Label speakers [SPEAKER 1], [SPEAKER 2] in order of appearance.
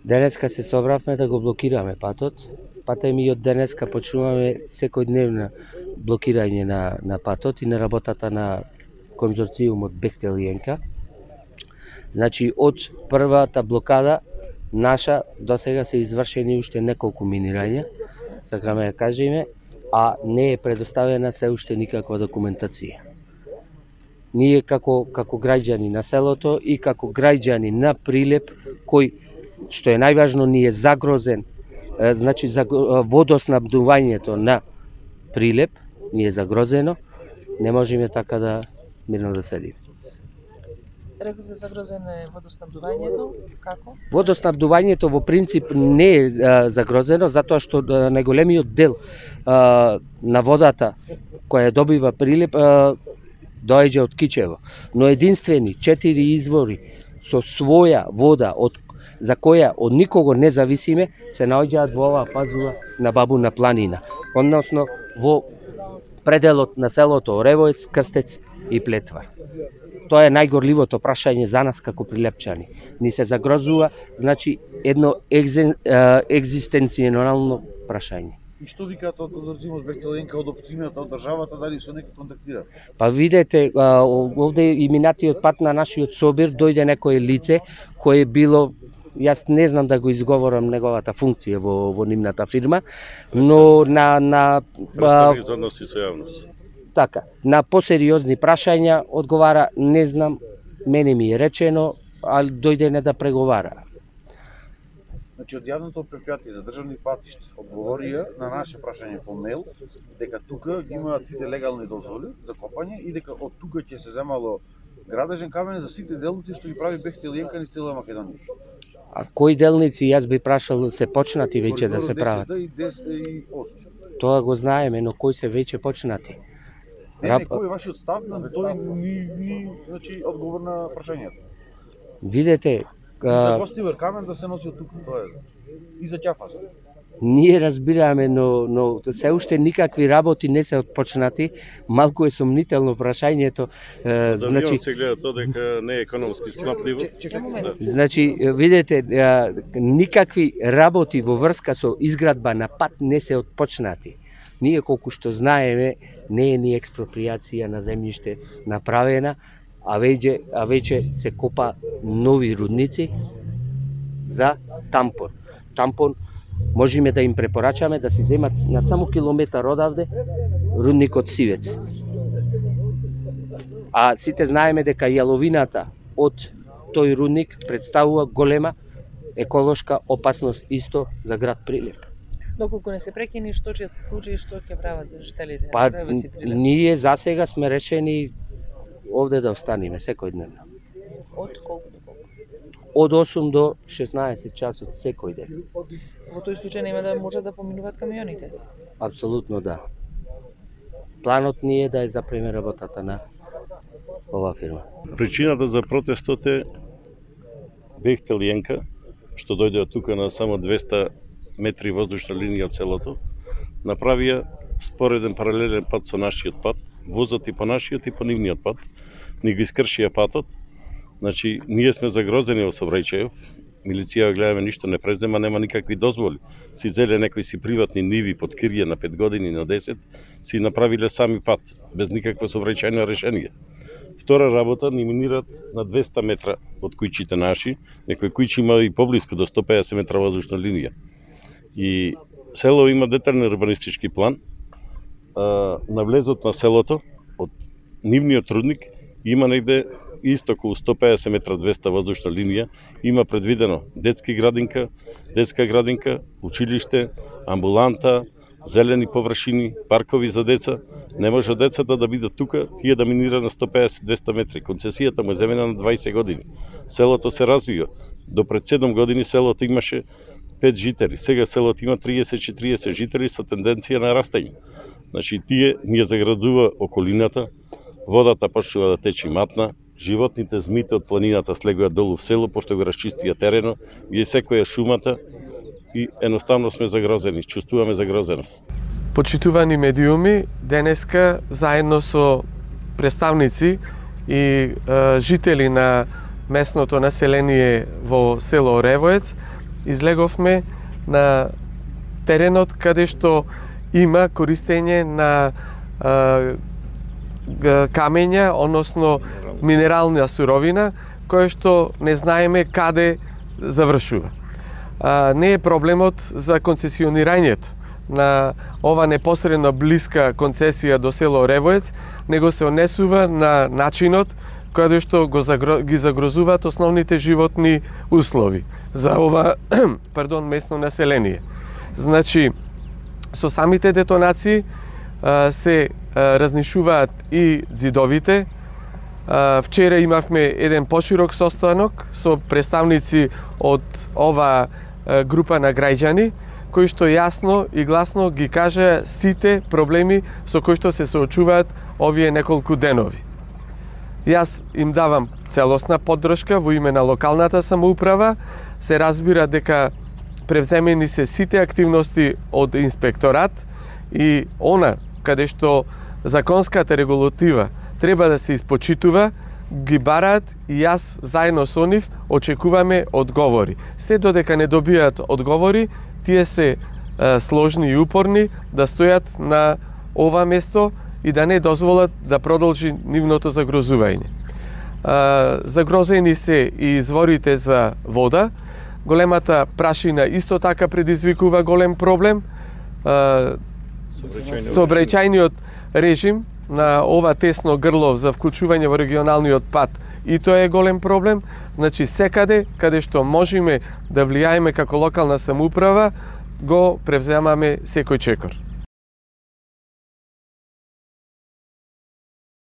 [SPEAKER 1] Денеска се собравме да го блокираме патот. Пата ми од денеска почнуваме секојдневно блокирање на патот и на работата на конзорциумот Бехтел и ЕНКА. Значи, од првата блокада наша до сега се извршени уште неколку минирања, сакаме да кажеме, а не е предоставена се уште никаква документација. Ние како граѓани на селото и како граѓани на Прилеп, кој, што е најважно, ни е загрозен, значи водоснабдувањето на Прилеп ни е загрозено, не можеме така да мирно да седиме.
[SPEAKER 2] Рековте загрозено е водоснабдувањето, како?
[SPEAKER 1] Водоснабдувањето во принцип не е загрозено, затоа што најголемиот дел на водата која добива Прилеп доаѓа од Кичево, но единствени 4 извори со своја вода за која од никого не зависиме се наоѓаат во оваа пазува на Бабуна планина, односно во пределот на селото Оревоец, Крстец и Плетвар. Тоа е најгорливото прашање за нас како прилепчани. Ни се загрозува, значи, едно екзистенцијално прашање.
[SPEAKER 3] И што викаат од конзорциумот Бехтел и ЕНКА, од општината, од државата, дали со некој контактира?
[SPEAKER 1] Па видете, овде и минатиот пат на нашиот собир дојде некое лице кое било, јас не знам да го изговорам неговата функција во нивната фирма, но
[SPEAKER 4] Представник за односи со јавност.
[SPEAKER 1] Така, на посериозни прашања одговара, не знам, мене ми е речено, ali дојде не да преговара.
[SPEAKER 3] Значи, од јавното предпријатие за државни патишта одговорија на наше прашање по мејл дека тука ги имаат сите легални дозволи за копање и дека од тука ќе се земало градежен камен за сите делници што ги прави Бехтел и ЕНКА низ цела Македонија.
[SPEAKER 1] А кои делници, јас би прашал, се почнати веќе да се прават?
[SPEAKER 3] 10 и 8.
[SPEAKER 1] Тоа го знаеме, но кои се веќе почнати?
[SPEAKER 3] Не, кој е вашиот став на тој значи одговор на прашањето?
[SPEAKER 1] Видете,
[SPEAKER 3] за гостивер камен да се носи од тука, тоа е. И за ќафаса.
[SPEAKER 1] Ние разбираме, но се уште никакви работи не се отпочнати. Малку е сомнително прашањето.
[SPEAKER 4] Значи се гледа тоа дека не е економски сплатливо.
[SPEAKER 1] Значи, видете, никакви работи во врска со изградба на пат не се отпочнати. Ние колку што знаеме, не е ни експроприација на земјиште направена, а веќе се копа нови рудници за тампон. Тампон можеме да им препорачаме да се земат на само километар одавде рудникот Сивец. А сите знаеме дека јаловината од тој рудник представува голема еколошка опасност исто за град Прилеп.
[SPEAKER 2] Доколку не се прекини, што ќе се случи и што ќе прават жителите?
[SPEAKER 1] Па, ние засега сме решени овде да останеме секојдневно.
[SPEAKER 2] Од колку до колку?
[SPEAKER 1] Од 8 до 16 часот секој ден.
[SPEAKER 2] Во тој случај нема да може да поминуваат камионите?
[SPEAKER 1] Апсолутно да. Планот ни е да ја запреме работата на оваа фирма.
[SPEAKER 4] Причината за протестот е Бехтел и ЕНКА, што дојде од тука на само 200 метри воздушна линија од селото, направија спореден паралелен пат со нашиот пат, возат и по нашиот и по нивниот пат, ни го искршија патот. Значи, ние сме загрозени во сообраќајот, милиција гледаме ништо не презема, нема никакви дозволи. Си зеле некои си приватни ниви под кирија на 5 години, на 10, си направиле сами пат, без никакво сообраќајно решение. Втора работа, ни минират на 200 метра од кујчите наши, некои кујчи има и поблиску до 150 метра воздушна линија. И село има детален урбанистички план. На влезот на селото, од нивниот рудник, има негде исто околу 150 метра 200 воздушна линија, има предвидено детска градинка, училиште, амбуланта, зелени површини, паркови за деца. Не може децата да бидат тука, тие да минира на 150-200 метри. Концесијата му е земена на 20 години. Селото се развива. До пред 7 години селото имаше 5 жители. Сега селото има 30-40 жители со тенденција на растење. Значи, тие ни ја заградува околината, водата почнува да тече матна, животните, змите од планината слегуваат долу в село, пошто го расчистија терено, ги секоја шумата и едноставно сме загрозени, чувствуваме загрозеност.
[SPEAKER 5] Почитувани медиуми, денеска заедно со представници и жители на местното население во село Оревоец излеговме на теренот каде што има користење на камења, односно минерална суровина, која што не знаеме каде завршува. Не е проблемот за концесионирањето на ова непосредно блиска концесија до село Ревоец, него се однесува на начинот каде што ги загрозуваат основните животни услови за ова местно население. Значи, со самите детонации се разнишуваат и ѕидовите. Вчера имавме еден поширок состанок со представници од ова група на граѓани, кои што јасно и гласно ги кажа сите проблеми со кои што се соочуваат овие неколку денови. Јас им давам целосна поддршка во име на локалната самоуправа. Се разбира дека превземени се сите активности од инспекторат и она каде што законската регулатива треба да се испочитува, ги бараат и јас заедно со нив очекуваме одговори. Се додека не добијат одговори, тие се сложни и упорни да стојат на ова место и да не дозволат да продолжи нивното загрозување. Загрозени се и изворите за вода. Големата прашина исто така предизвикува голем проблем. Сообраќајниот режим на ова тесно грло за вклучување во регионалниот пат и тоа е голем проблем. Значи секаде каде што можеме да влијаеме како локална самоуправа, го превземаме секој чекор.